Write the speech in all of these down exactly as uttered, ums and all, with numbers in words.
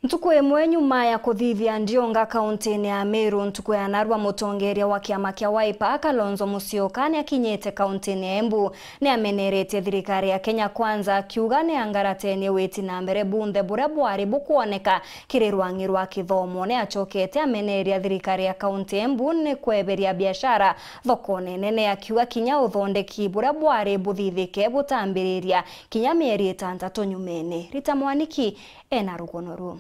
Ntuku imwe nyuma ya kuthithia ndionga kauntiine ya Meru, ntuku ya narua, mutongeria wa kiama kia Wiper, Kalonzo Musyoka, ni akinyite kauntiine ya Embu. Ni ameneretie thirikari ya Kenya Kwanza, akiuga ni angaratenie witi na mbere bunthe buria bwari bukwoneka kiri rwang'i rwa kithomo. Ni acokete ameneria thirikari ya kaunti ya Embu ni kweberia biashara thokone nene, akiuga kinya uthondeki buria bwari buthithike butambiriria kinya mieri itantatu nyumene. Rita Mwaniki ena rugono ruu.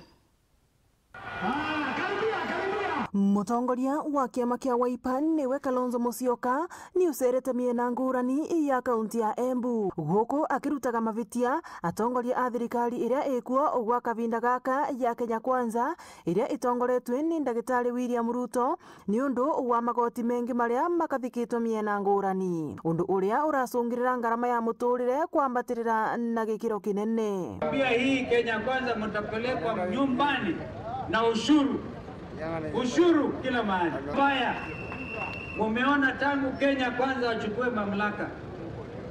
Mutongoria wa kiama kia Wiper niwe Kalonzo Musyoka ni ucerete miena ngurani ya kaunti ya Embu, guku akirutaga mavitia atongoria a thirikari iria ikuo gwa kavinda gaka ya Kenya Kwanza, iria itongoretwe ni Ndagitari William Ruto, ni undu wa magoti mengi maria makathikitwe miena ngurani, undu uria uracungirira ngarama ya muturire kwambatirira na gikiro kinene. Pia hii Kenya Kwanza mtapelekwa nyumbani na ushuru. Ushuru kila mahali. Mbaya. Mumeona tangu Kenya Kwanza wachukue mamlaka,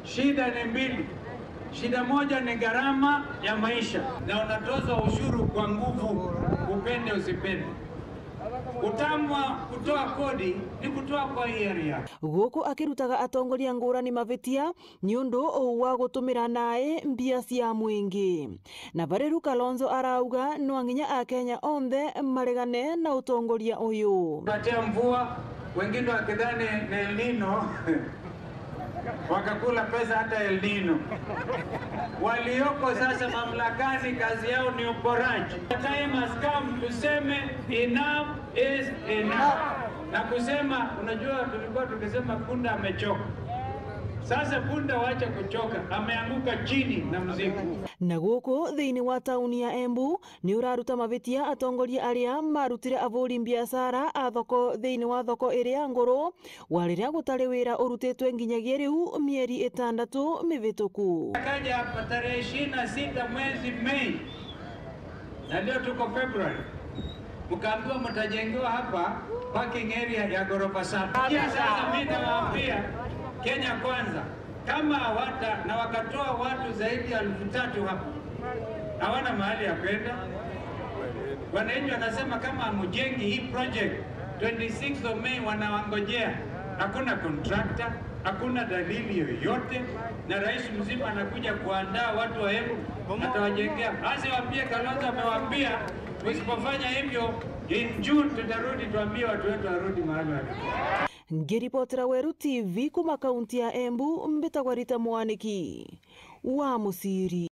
shida ni mbili. Shida moja ni gharama ya maisha, na unatozwa ushuru kwa nguvu, upende usipende. Utamu wa kutoa kodi ni kutoa kwa hiari yako. Guku akirutaga atongoria ngurani mavitia ni undu wa gutumira nae mbia cia mwingi. Na bari ru Kalonzo arauga no nginya Akenya onthe maregane na utongoria uyu. Patia mvua, wengine wakidhani ni El Nino. Wakakula pesa hata El Nino. Walioko sasa mamlakani, kazi yao ni uporaji. The time has come tuseme enough is enough. Na kusema, unajua, tulikuwa tukisema punda amechoka. Sasa punda wacha kuchoka, ameanguka chini na mzigo. Na guku thiini wa tauni ya Embu, ni uraruta mavitia atongoria aria marutire avuri mbiacara a thoko thiini wa thoko iria nguru, wa riria gutari wira urutitwe nginyagia riu mieri itandatu mivituku. Akaja hapa tarehe ishirini na sita mwezi Mei, na leo tuko February, mkaambiwa mtajengewa hapa parking area ya ghorofa saba. Sasa mimi nawaambia Kenya Kwanza, kama hawata-, na wakatoa watu zaidi ya elfu tatu hapa, hawana mahali ya kwenda. Wananchi wanasema kama hamujengi hii project, twenty-sixth of May wanawangojea. Hakuna contractor, hakuna dalili yoyote, na rais mzima anakuja kuandaa watu wa Embu, atawajengea. Basi waambie Kalonzo amewaambia, usipofanya hivyo, in June tutarudi tuambie watu wetu warudi mahali walikuwa. Ngiripotera Weru T V kuma kaunti ya Embu, mbitagwa Rita Mwaniki wa Musiri.